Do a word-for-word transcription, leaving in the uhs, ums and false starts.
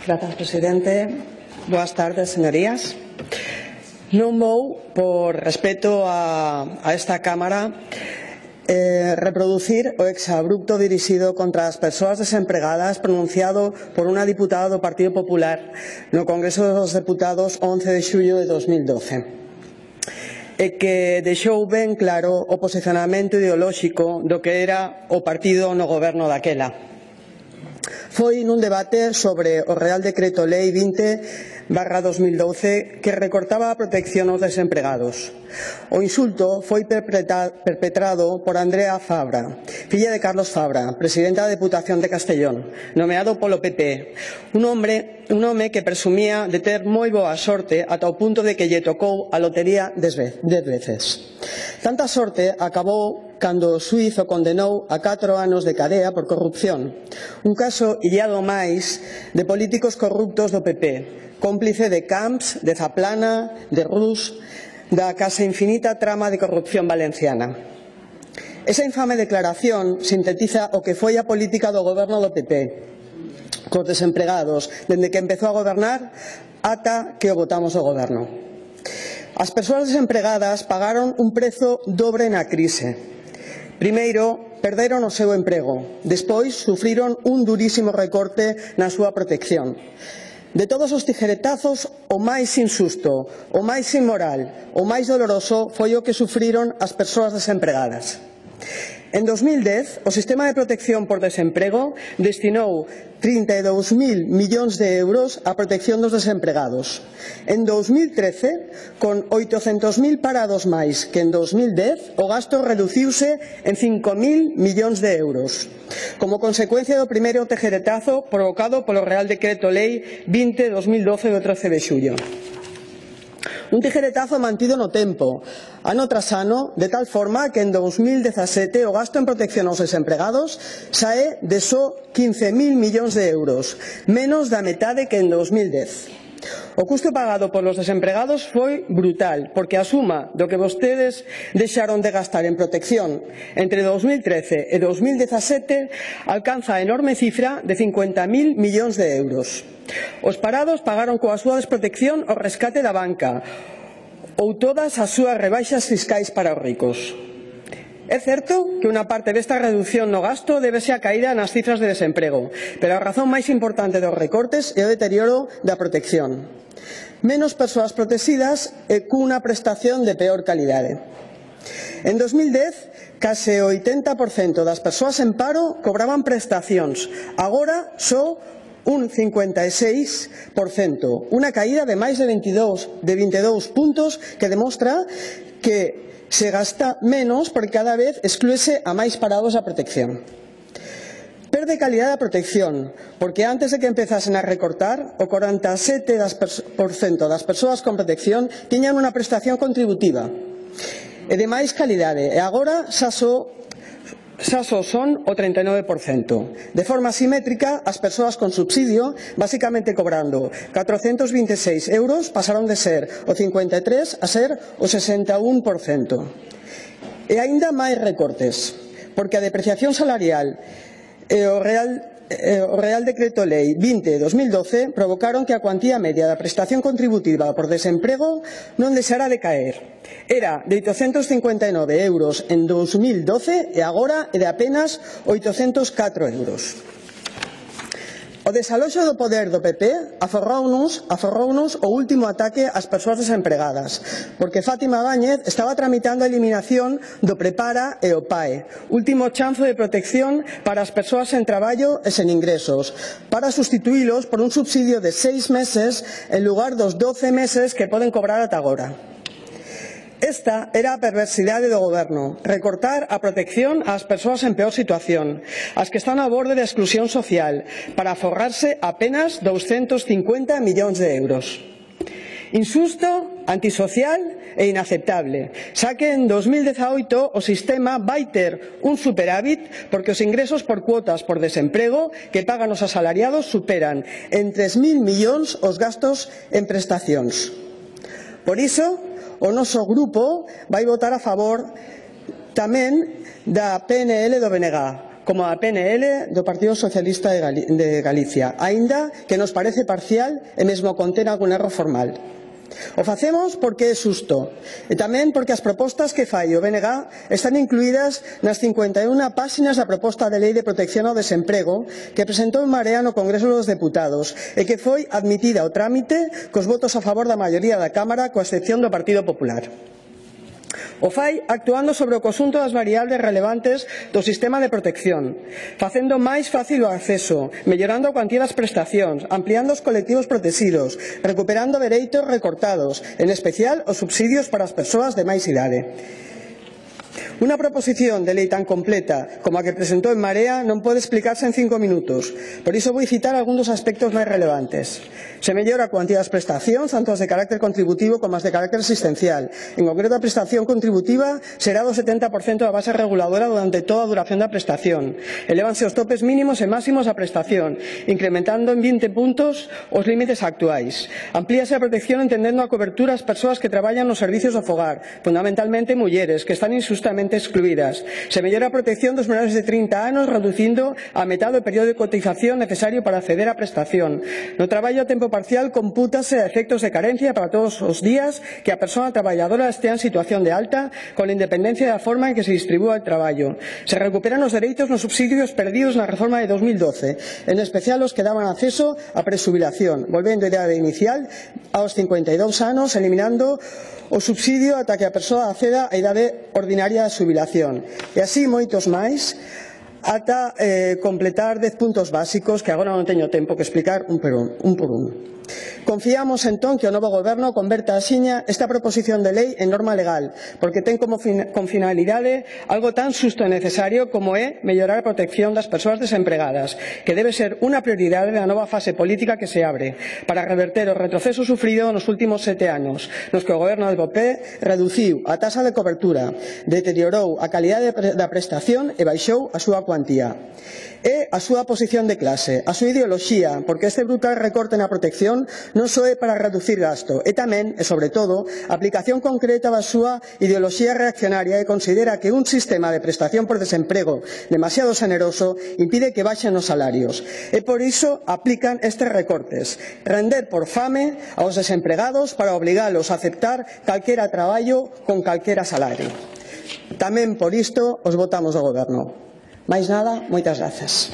Gracias, presidente. Boas tardes, señorías. Non vou, por respeto a, a esta Cámara, eh, reproducir o exabrupto dirixido contra as persoas desempregadas pronunciado por unha diputada do Partido Popular no Congreso dos Deputados once de xullo de dos mil doce. E que deixou ben claro o posicionamento ideolóxico do que era o partido no goberno daquela. Foi nun debate sobre o Real Decreto Lei vinte barra dos mil doce que recortaba a protección aos desempregados. O insulto foi perpetrado por Andrea Fabra, filla de Carlos Fabra, presidenta da Deputación de Castellón, nomeado polo P P, un hombre, un home que presumía de ter moi boa sorte ata o punto de que lle tocou a lotería dez veces. Tanta sorte acabou cando o xuíz o condenou a catro anos de cadea por corrupción, un caso illado máis de políticos corruptos do P P, cómplice de Camps, de Zaplana, de Rus, da case infinita trama de corrupción valenciana. Esa infame declaración sintetiza o que foi a política do goberno do P P cos desempregados dende que empezou a gobernar ata que o botamos o goberno. As persoas desempregadas pagaron un prezo dobre na crise. Primeiro, perderon o seu emprego. Despois, sufriron un durísimo recorte na súa protección. De todos os tijeretazos, o máis insusto, o máis inmoral, o máis doloroso foi o que sufriron as persoas desempregadas. En dos mil dez, o Sistema de Protección por Desemprego destinou trinta e dous mil millóns de euros á protección dos desempregados. En dos mil trece, con oitocentos mil parados máis que en dos mil dez, o gasto reduciuse en cinco mil millóns de euros, como consecuencia do primeiro tejeretazo provocado polo Real Decreto Lei vinte barra dos mil doce do trece de xullo. Un tijeretazo mantido no tempo, ano tras ano, de tal forma que en dos mil dezasete o gasto en protección aos desempregados sae de só quince mil millóns de euros, menos da metade que en dos mil dez. O custo pagado polos desempregados foi brutal, porque a suma do que vostedes deixaron de gastar en protección entre dos mil trece e dos mil dezasete alcanza a enorme cifra de cincuenta mil millóns de euros. Os parados pagaron coa súa desprotección o rescate da banca ou todas as súas rebaixas fiscais para os ricos. É certo que unha parte desta reducción no gasto débese á caída nas cifras de desemprego, pero a razón máis importante dos recortes é o deterioro da protección. Menos persoas protegidas e cunha prestación de peor calidade. En dos mil dez, case o oitenta por cento das persoas en paro cobraban prestacións, agora só un cincuenta e seis por cento, unha caída de máis de veintidós puntos que demostra que se gasta menos porque cada vez exclúese a máis parados a protección. Perde calidade a protección, porque antes de que empezasen a recortar, o corenta e sete por cento das persoas con protección tiñan unha prestación contributiva e de máis calidade, e agora xa só xa só son o trinta e nove por cento. De forma simétrica, as persoas con subsidio, basicamente cobrando catrocentos vinte e seis euros, pasaron de ser o cincuenta e tres por cento a ser o sesenta e un por cento. E aínda máis recortes, porque a depreciación salarial e o Real o Real Decreto Lei vinte barra dos mil doce provocaron que a cuantía media da prestación contributiva por desemprego non deixara de caer. Era de oitocentos cincuenta e nove euros en dos mil doce e agora é de apenas oitocentos catro euros. O desaloxo do poder do P P aforrounos, aforrounos o último ataque ás persoas desempregadas, porque Fátima Báñez estaba tramitando a eliminación do Prepara e o P A E, último chanzo de protección para as persoas sen traballo e sen ingresos, para sustituílos por un subsidio de seis meses en lugar dos doce meses que poden cobrar ata agora. Esta era a perversidade do goberno, recortar a protección ás persoas en peor situación, as que están ao borde da exclusión social, para aforrarse apenas douscentos cincuenta millóns de euros. Insusto, antisocial e inaceptable, xa que en dos mil dezaoito o sistema vai ter un superávit porque os ingresos por cuotas por desemprego que pagan os asalariados superan en tres mil millóns os gastos en prestacións. Por iso, o noso grupo vai votar a favor tamén da P N L do B N G, como a P N L do Partido Socialista de, Gali de Galicia, aínda que nos parece parcial e mesmo contén algún erro formal. O facemos porque é xusto e tamén porque as propostas que fai o B N G están incluídas nas cincuenta e unha páxinas da proposta de lei de protección ao desemprego que presentou en Marea no Congreso dos Deputados e que foi admitida ao trámite cos votos a favor da maioría da Cámara, coa excepción do Partido Popular. O fai actuando sobre o conxunto das variables relevantes do sistema de protección, facendo máis fácil o acceso, mellorando a cuantía das prestacións, ampliando os colectivos protegidos, recuperando dereitos recortados, en especial os subsidios para as persoas de máis idade. Unha proposición de lei tan completa como a que presentou en Marea non pode explicarse en cinco minutos, por iso vou citar algúns dos aspectos máis relevantes. Se mellora a cuantía das prestacións, tanto as de carácter contributivo como as de carácter asistencial. En concreto, a prestación contributiva será do setenta por cento da base reguladora durante toda a duración da prestación. Elévanse os topes mínimos e máximos da prestación, incrementando en vinte puntos os límites actuais. Amplíase a protección entendendo a cobertura ás persoas que traballan nos servicios do fogar, fundamentalmente mulleres, que están injustamente excluídas. Se mellora a protección dos menores de trinta anos, reducindo a metade o período de cotización necesario para acceder á prestación. No traballo a tempo parcial compútase a efectos de carencia para todos os días que a persoa traballadora estea en situación de alta, con independencia da forma en que se distribúa o traballo. Se recuperan os dereitos nos subsidios perdidos na reforma de dos mil doce, en especial os que daban acceso á presubilación, volvendo a idade inicial aos cincuenta e dous anos, eliminando o subsidio ata que a persoa acceda á idade ordinaria da xubilación. E así moitos máis, ata eh, completar dez puntos básicos que agora non teño tempo que explicar un por un. un, por un. Confiamos entón que o novo Goberno converta axiña esta proposición de lei en norma legal, porque ten como fin, con finalidade algo tan xusto e necesario como é mellorar a protección das persoas desempregadas, que debe ser unha prioridade na nova fase política que se abre, para reverter o retroceso sufrido nos últimos sete anos, nos que o Goberno do P P reduciu a taxa de cobertura, deteriorou a calidade da prestación e baixou a súa cuantía. É a súa posición de clase, a súa ideoloxía, porque este brutal recorte na protección non só é para reducir gasto, é tamén, e sobre todo, a aplicación concreta da súa ideoloxía reaccionaria e considera que un sistema de prestación por desemprego demasiado xeneroso impide que baixen os salarios. E por iso aplican estes recortes, render por fame aos desempregados para obligalos a aceptar calquera traballo con calquera salario. Tamén por isto os votamos do Goberno. Máis nada, moitas grazas.